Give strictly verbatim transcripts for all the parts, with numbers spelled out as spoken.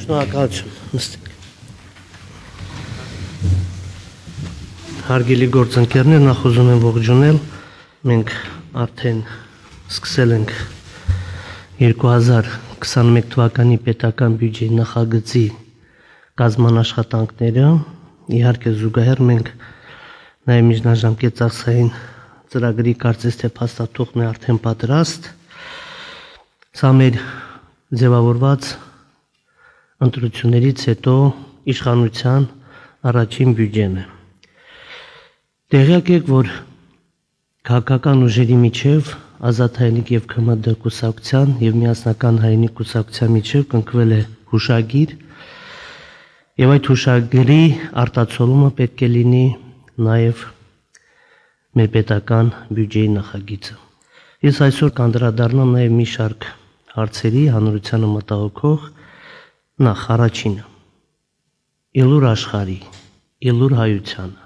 Շնորհակալություն, նստեք։ Հարգելի գործընկերներ, նախ ուզում եմ ողջունել, մենք արդեն սկսել ենք երկու հազար քսաներեք թվականի պետական բյուջեի նախագծի կազման աշխատանքները, իհարկե զուգահեռ մենք նաև միջնաժամկետ ծախսային ծրագրի կարծես թե փաստաթուղթն է արդեն պատրաստ, սա մեր ձևավորված ընտրություններից հետո իշխանության առաջին բյուջեն է։ Տեղյակ եք, որ քաղաքական ուժերի միջև Ազատ հայրենիք եւ K M D կուսակցության եւ Միասնական հայրենիք կուսակցության միջև կնքվել է հուշագիր, եւ այդ հուշագրի արտացոլումը պետք է լինի նաեւ մեր պետական բյուջեի նախագիծը։ Ես այսօր կանդրադառնամ նաեւ մի շարք հարցերի հանրությանը մտահոգող, նախ առաջինը՝ Իլուր աշխարհի, Իլուր հայությանը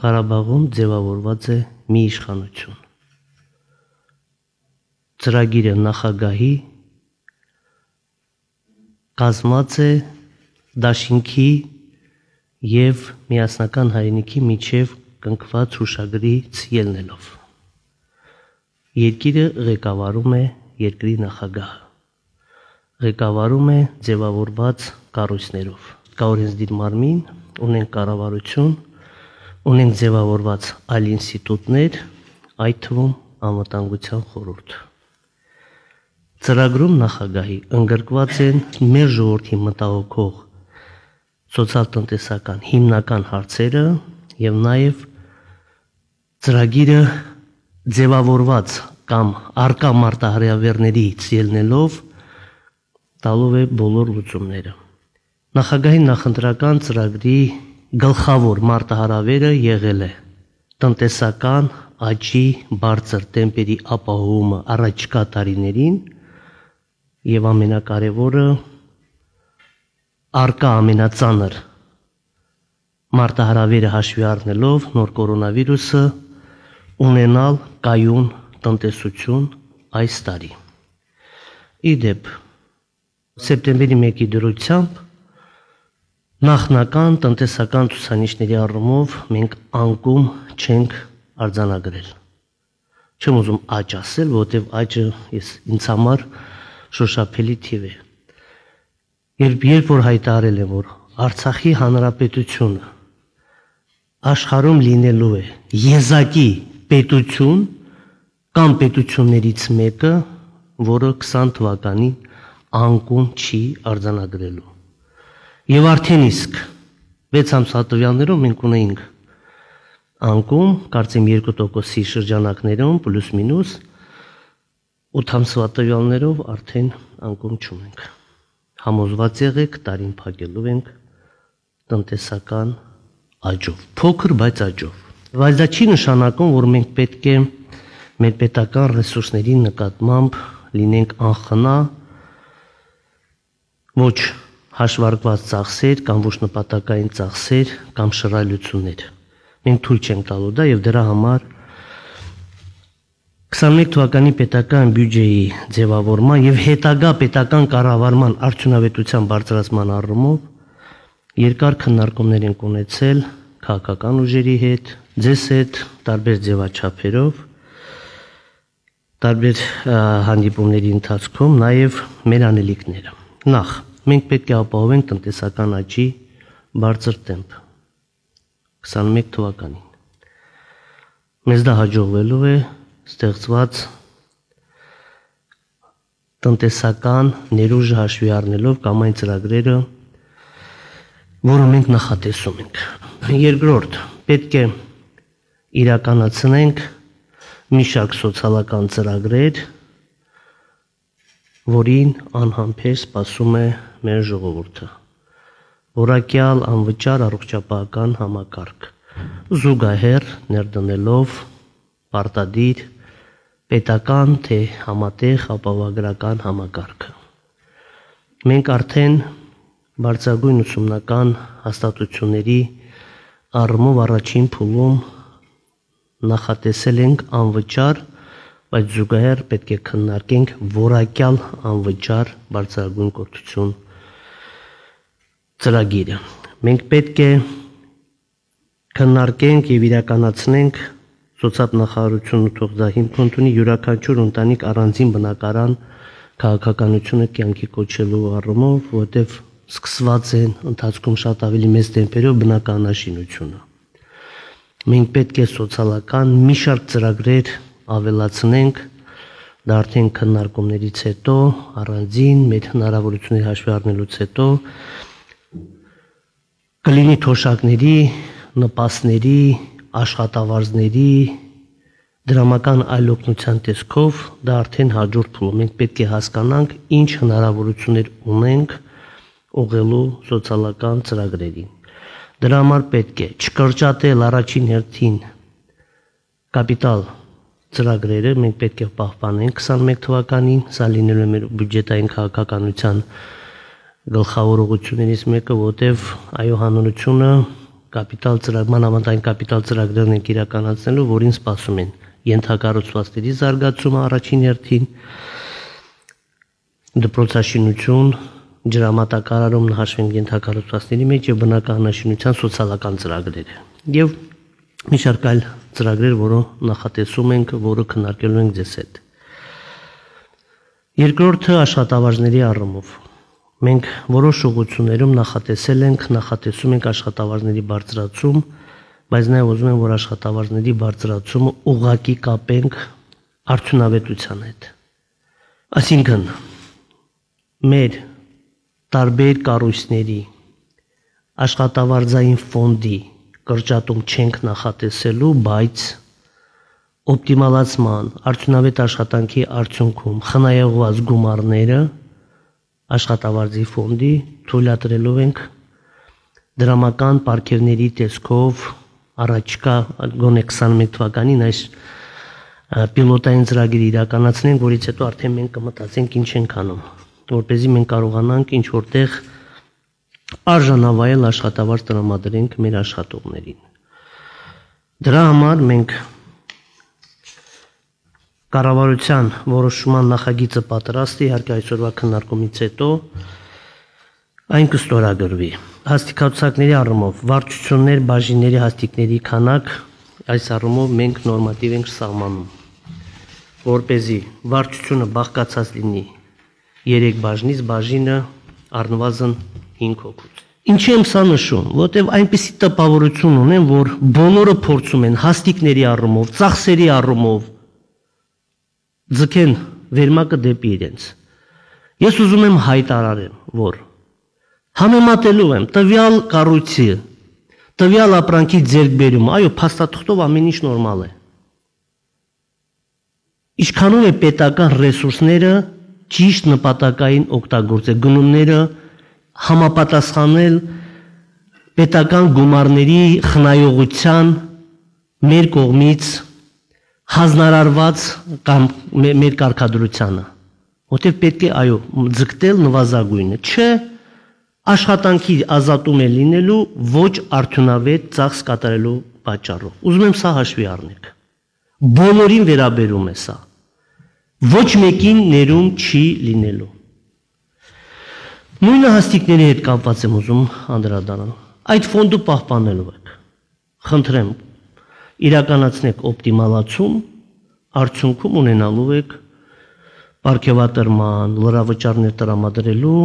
Ղարաբաղում ձևավորված է մի իշխանություն։ Ծրագիրը նախագահի կազմած է դաշինքի եւ Միասնական հայրենիքի միջև կնքված հուշագրից ելնելով։ Երկիրը ղեկավարում է երկրի նախագահը։ Ղեկավարում է ձևավորված կառույցներով։ Կա օրենսդիր մարմին, ունենք կառավարություն, ունենք ձևավորված այլ ինստիտուտներ, այդ թվում անվտանգության խորհուրդ։ Ծրագրում նախագահի ընդգրկված են մեր ժողովրդի մտահոգող սոցիալ-տնտեսական հիմնական հարցերը եւ նաեւ ծրագիրը ձևավորված կամ արկա մարտահրավերներից ելնելով տալով է բոլոր լուծումները։ Նախագահի նախընտրական ծրագրի գլխավոր մարտահրավերը եղել է տնտեսական աճի բարձր տեմպերի ապահովումը առաջիկա տարիներին եւ ամենակարևորը արկա ամենածանր մարտահրավերը հաշվի առնելով նոր կորոնավիրուսը ունենալ կայուն տնտեսություն այս տարի։ Իդեպ սեպտեմբերի մեկի դրությամբ նախնական տնտեսական ցուցանիշների առումով մենք անկում չենք արձանագրել։ Չեմ ուզում աճ ասել, որովհետև աճը ես ինձ համար շոշափելի թիվ է։ Երբ երբ որ հայտարարել եմ, որ Արցախի հանրապետությունը աշխարհում լինելու է եզակի պետություն կամ պետություններից մեկը, որը քսան թվականին անկում չի արձանագրելու։ Եվ արդեն իսկ վեց ամսվա տվյալներով մենք ունեինք անկում, կարծեմ երկու տոկոսի շրջանակներում պլյուս մինուս, ութ ամսվա տվյալներով արդեն անկում չունենք։ Համոզված եղեք, տարին փակելու ենք տնտեսական աճով, փոքր բայց աճով։ Բայց դա չի նշանակում, որ մենք պետք է մեր պետական ռեսուրսների նկատմամբ լինենք անխնա, ոչ հաշվարկված ծախսեր կամ ոչ նպատակային ծախսեր կամ շռայլություններ։ Մենք թույլ չենք տալու դա եւ դրա համար քսաներեք թվականի պետական բյուջեի ձևավորման եւ հետագա պետական կառավարման արդյունավետության բարձրացման առումով երկար քննարկումներ ենք ունեցել քաղաքական ուժերի հետ, ձեզ հետ, տարբեր ձևաչափերով, տարբեր հանդիպումների ընթացքում նաեւ մեր անելիքները։ Նախ մենք պետք է ապահովենք տնտեսական աճի բարձր տեմպ քսաներեք թվականին։ Մեզ դա հաջողվելու է ստեղծված տնտեսական ներուժը հաշվի առնելով կամ այն ծրագրերը, որը մենք նախատեսում ենք։ Երկրորդ, պետք է իրականացնենք մի շարք սոցիալական ծրագրեր, որին անհամբեր սպասում է մեր ժողովուրդը։ Որակյալ անվճար առողջապահական համակարգ, զուգահեռ ներդնելով պարտադիր պետական թե համատեղ ապահովագրական համակարգը։ Մենք արդեն բարձրագույն ուսումնական հաստատությունների առումով առաջին փուլում նախատեսել ենք անվճար, բայց զուգահեռ պետք է քննարկենք որակյալ անվճար բարձրագույն կրթություն ծրագիրը։ Մենք պետք է քննարկենք եւ իրականացնենք սոցիալ-նախարարությունը թող դա հիմք ընդունի յուրաքանչյուր ընտանիք առանձին բնակարան քաղաքականությունը կյանքի կոչելու առումով, որտեղ սկսված են ընթացքում շատ ավելի մեծ տեմպերով բնականաշինությունը։ Մենք պետք է սոցիալական մի շարք ծրագրեր ավելացնենք, դա արդեն քննարկումներից հետո, առանձին մեր հնարավորությունների հաշվի առնելուց հետո կլինի թոշակների, նպաստների, աշխատավարձների, դրամական այլ օգնության տեսքով, դա արդեն հաջորդ փուլում։ Մենք պետք է հասկանանք ինչ հնարավորություններ ունենք ուղղելու սոցիալական ծրագրերին։ Դրա համար պետք է չկրճատել առաջին հերթին կապիտալ ծրագրերը, մենք պետք է պահպանենք քսանմեկ թվականին, սա լինելու է մեր բյուջետային քաղաքականության գլխավոր ուղղություններից մեկը, որտեղ այո հանրությունը կապիտալ ծրագիր, մանավանդային կապիտալ ծրագրերն են իրականացնելու, որին սպասում են ենթակառուցվածքների զարգացումը առաջին հերթին, դպրոցաշինություն, ջրամատակարարումն հաշվենք ենթակառուցվածքների մեջ եւ բնականաշինության սոցիալական ծրագրերը։ Եվ մի շարք այլ ծրագրեր, որը նախատեսում ենք, որը քննարկելու ենք ձեզ հետ։ Երկրորդը աշխատավարձների առումով։ Մենք որոշ ուղղություններում նախատեսել ենք, նախատեսում ենք աշխատավարձների բարձրացում, բայց նաև ուզում եմ, որ աշխատավարձների բարձրացումը ուղղակի կապենք արդյունավետության հետ։ Այսինքն, մեր տարբեր կառույցների աշխատավարձային ֆոնդի կրճատում չենք նախատեսելու, բայց օպտիմալացման, արդյունավետ աշխատանքի արդյունքում խնայողված գումարները աշխատավարձի ֆոնդի թույլատրելով ենք դրամական պարգևների տեսքով առաջկա գոնե քսանմեկ թվականին այս պիլոտային ծրագիրը իրականացնենք, որից հետո արդեն մենք կմտածենք ինչ ենք անում, որպեսզի մենք կարողանանք ինչ որտեղ արժանավայել աշխատավարձ տրամադրենք մեր աշխատողներին։ Դրա համար մենք կառավարության որոշման նախագիծը պատրաստ է, իհարկե այսօրվա քննարկումից հետո այն կստորագրվի։ Հաստիկացուցակների առումով վարչություններ, բաժինների հաստիկների քանակ, այս առումով մենք նորմատիվ ենք սահմանում, որպեսզի վարչությունը բաղկացած լինի երեք բաժնից, բաժինը առնվազն հինգ հոգուց։ Ինչի եմ սա նշում, որտեղ այնպիսի տպավորություն ունեն, որ բոլորը փորձում են հաստիկների առումով, ծախսերի առումով ձգեն վերմակը դեպի իրենց։ Ես ուզում եմ հայտարարեմ, որ համեմատելու եմ տվյալ կառույցի, տվյալ ապրանքի ձեռքբերումը, այո, փաստաթղթով ամեն ինչ նորմալ է։ Ինչքանում է պետական ռեսուրսները ճիշտ նպատակային օգտագործել, գնումները համապատասխանել պետական գումարների խնայողության մեր կողմից հանձնարարված կամ մեր կարգադրությանը, որտեղ պետք է այո ձգտել նվազագույնը, չէ աշխատանքի ազատում է լինելու ոչ արդյունավետ ծախս կատարելու պատճառով։ Ուզում եմ սա հաշվի առնեք։ Բոլորին վերաբերում է սա։ Ոչ մեկին ներում չի լինելու։ Նույնը հաստիկների հետ կապված եմ ուզում անդրադառնալ։ Այդ ֆոնդը պահպանելու եք։ Խնդրեմ, իրականացնեք օպտիմալացում, արդյունքում ունենալու եք պարգևատրման, լրավճարներ տրամադրելու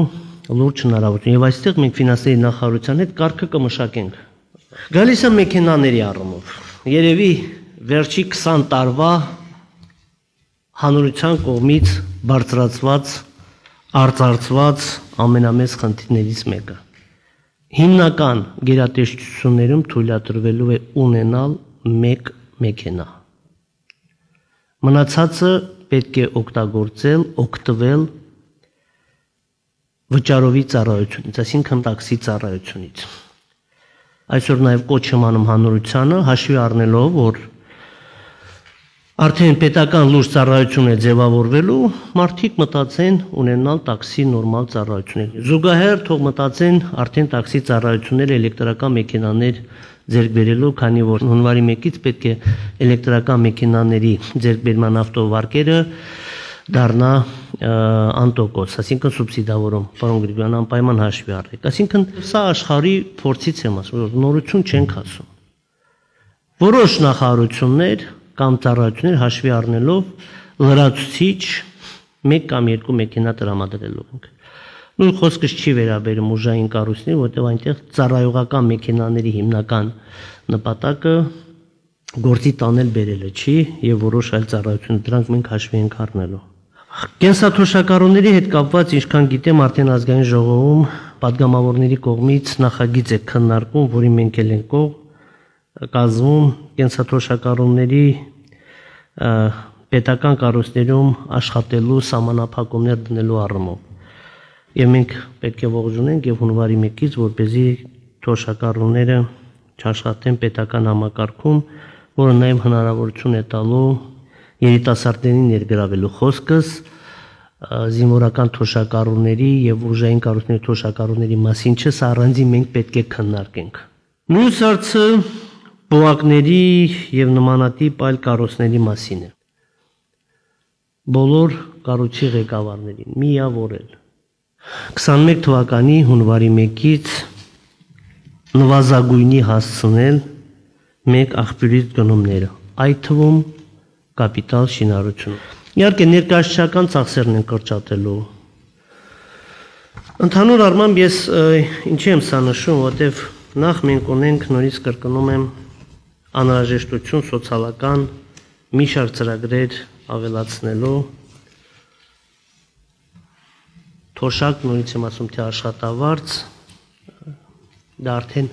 լուրջ հնարավորություն։ Եվ այստեղ մենք ֆինանսների նախարարության հետ կարգը կմշակենք։ Գալիս է մեքենաների առումով։ Երևի վերջի քսան տարվա հանրության կողմից բարձրացված, արծարծված ամենամեծ խնդիրներից մեկը։ Հիմնական գերատեսչություններում թույլատրվելու է ունենալ մեկ մեքենա։ Մնացածը պետք է օգտագործել, օգտվել վճարովի ծառայությունից, այսինքն տաքսի ծառայությունից։ Այսօր նաև կոչ եմ անում հանրությանը, հաշվի առնելով, որ արդեն պետական լուրջ ծառայություն է ձևավորվելու, մարդիկ մտածեն ունենալ տաքսի նորմալ ծառայություններ։ Զուգահեռ թող մտածեն արդեն տաքսի ծառայությունները էլեկտրական մեքենաներ ձեռք բերելու, քանի որ հունվարի մեկից պետք է էլեկտրական մեքենաների ձեռքբերման ավտովարկերը դառնա անտոկոս, այսինքն սուբսիդավորում, պարոն Գրիգորյան, անպայման հաշվի առեք։ Այսինքն սա աշխարհի փորձից եմ ասում, որ նորություն չենք ասում։ Որոշ նախարարություններ կամ ծառայություններ հաշվի առնելով լրացուցիչ մեկ կամ երկու մեքենա տրամադրելով ենք։ Նույն խոսքս չի վերաբերում ուժային կառույցներին, որտեղ այնտեղ ծառայողական մեքենաների հիմնական նպատակը գործի տանել բերելը չի եւ որոշ այլ ծառայություններ դրանք մենք հաշվի ենք առնելու։ Կենսաթոշակառուների հետ կապված, ինչքան գիտեմ, արդեն ազգային ժողովում падգամավորների կողմից նախագիծ է քննարկում, որի մենք էլ ենք կազմում կենսաթոշակառուների պետական կառույցներում աշխատելու սահմանափակումներ դնելու առումով։ Եվ մենք պետք է ողջունենք եւ հունվարի մեկից, որպեսզի թոշակառուները չաշխատեն պետական համակարգում, որը նաեւ հնարավորություն է տալու երիտասարդներին ներգրավելու խոսքս զինվորական թոշակառուների եւ ուժային կառույցների թոշակառուների մասին չէ, սա առանձին մենք պետք է քննարկենք։ Մյուս հարցը բողոքների եւ նմանատիպ այլ կառույցների մասին է։ Բոլոր կառույցի ղեկավարներին միավորել քսանմեկ թվականի հունվարի մեկից նվազագույնի հասցնել մեկ աղբյուրից գնումները, այդ թվում կապիտալ շինարարություն։ Իհարկե ներկայացչական ծախսերն են կրճատելու։ Ընդհանուր առմամբ ես ինչի եմ սա նշում, որտեվ նախ մենք ունենք, նորից կրկնում եմ, անհրաժեշտություն սոցիալական մի շարք ծրագրեր ավելացնելու, թոշակ, նորից եմ ասում, թե աշխատավարձ, դա արդեն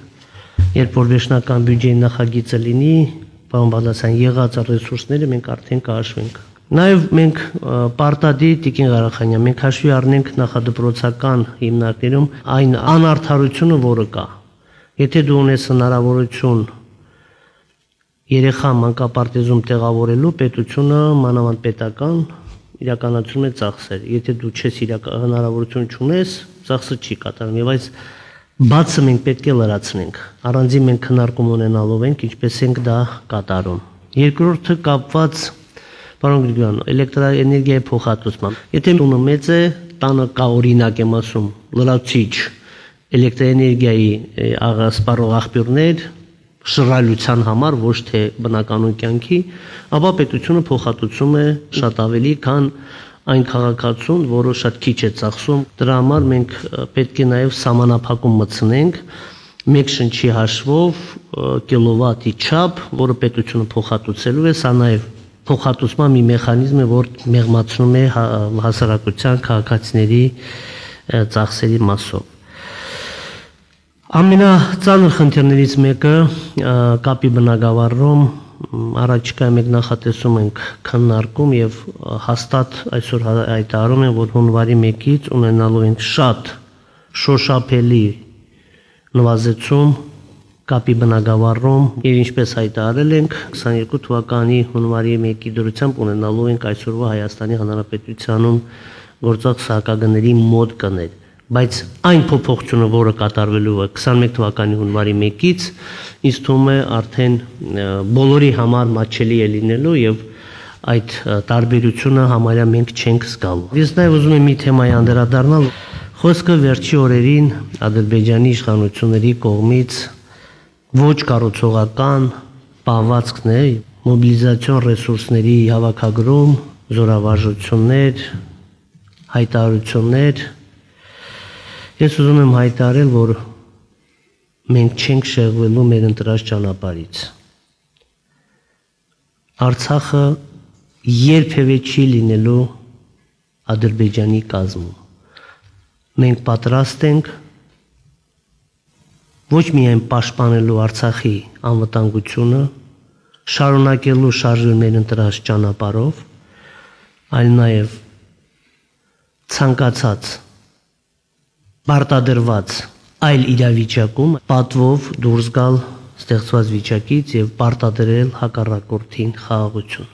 երբ որ վերջնական բյուջեի նախագիծը լինի, պարոն Բաղդասարյան, եղած ռեսուրսները մենք արդեն կհաշվենք։ Նաև մենք պարտադիր Տիկին Ղարախանյան, մենք հաշվի առնենք նախադպրոցական հիմնարկներում այն անարդարությունը, որը կա։ Եթե դու ունես հնարավորություն երեխա մանկապարտեզում տեղավորելու, պետությունը մանավանդ պետական իրականացում է ծախսեր։ Եթե դու չես հնարավորություն չունես, ծախսը չի կատարում։ Եվ այս բացը մենք պետք է լրացնենք։ Առանձին մենք քննարկում ունենալով ենք, ինչպես ենք դա կատարում։ Երկրորդը կապված, պարոն Գրիգորյան, էլեկտրաէներգիայի փոխհատուցման։ Եթե տունը մեծ է, տանը կա, օրինակ եմ ասում, լրացուցիչ էլեկտրաէներգիայի սպառող աղբյուրներ շռայլության համար, ոչ թե բնականոն կյանքի, ապա պետությունը փոխհատուցում է շատ ավելի, քան այն քաղաքացուն, որը շատ քիչ է ծախսում։ Դրա համար մենք պետք է նաև սահմանափակում մտցնենք մեկ շնչի հաշվով կիլովատի չափ, որը պետությունը փոխհատուցելու է, սա նաև փոխհատուցման մի մեխանիզմ է, որ մեղմացնում է հասարակության քաղաքացիների ծախսերի մասով։ Ամենածանր խնդիրներից մեկը կապի բնագավառում առաջիկա մեկ նախատեսում ենք քննարկում եւ հաստատ այսօր հայտարարում են, որ հունվարի մեկից ունենալու ենք շատ շոշափելի նվազեցում կապի բնագավառում եւ ինչպես հայտարարել ենք քսաներկու թվականի հունվարի մեկի դրությամբ ունենալու ենք այսօրվա Հայաստանի Հանրապետությունում գործող սահակագների մոտ կներ, բայց այն փոփոխությունը, որը կատարվելու է քսանմեկ թվականի հունվարի մեկից, ինձ թվում է արդեն բոլորի համար մատչելի է լինելու եւ այդ տարբերությունը համարյա մենք չենք զգալու։ Ես նաեւ ուզում եմ մի թեմայի անդրադառնալ, խոսքը վերջի օրերին Ադրբեջանի իշխանությունների կողմից ոչ կառուցողական պահվածքն է, մոբիլիզացիոն ռեսուրսների հավաքագրում, զորավարժություններ, հայտարարություններ։ Ես ուզում եմ հայտարարել, որ մենք չենք շեղվելու մեր ընտրած ճանապարհից։ Արցախը երբևէ չի լինելու Ադրբեջանի կազմում։ Մենք պատրաստ ենք ոչ միայն պաշտպանելու Արցախի անվտանգությունը, շարունակելու շարժել մեր ընտրած ճանապարհով, այլ նաև ցանկացած պարտադրված այլ իրավիճակում պատվով դուրս գալ ստեղծված վիճակից եւ պարտադրել հակառակորդին խաղաղություն։